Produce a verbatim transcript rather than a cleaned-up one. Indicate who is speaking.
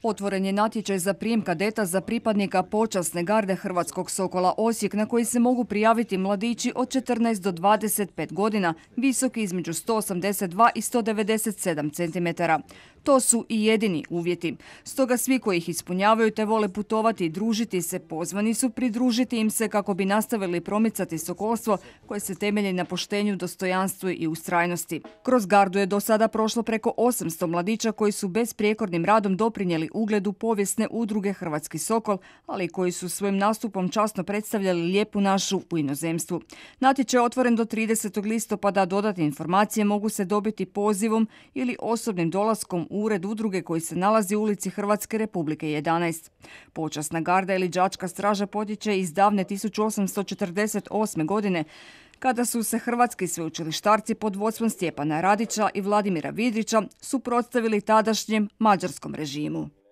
Speaker 1: Otvoren je natječaj za prijem kadeta za pripadnika počasne garde Hrvatskog Sokola Osijek, na koji se mogu prijaviti mladići od četrnaest do dvadeset pet godina, visoki između sto osamdeset dva i sto devedeset sedam centimetara. To su i jedini uvjeti. Stoga svi koji ih ispunjavaju te vole putovati i družiti se, pozvani su pridružiti im se kako bi nastavili promicati sokolstvo koje se temelji na poštenju, dostojanstvu i ustrajnosti. Kroz gardu je do sada prošlo preko osamsto mladića koji su besprijekornim radom doprinijeli ugledu povijesne udruge Hrvatski Sokol, ali koji su svojim nastupom časno predstavljali lijepu našu u inozemstvu. Natječaj je otvoren do tridesetog listopada, dodatne informacije mogu se dobiti pozivom ili osobnim dolaskom u ured udruge koji se nalazi u ulici Hrvatske Republike jedanaest. Počasna garda ili đačka straža potječe iz davne tisuću osamsto četrdeset osme. godine, kada su se hrvatski sveučilištarci pod vodstvom Stjepana Radića i Vladimira Vidrića suprotstavili tadašnjem mađarskom režimu.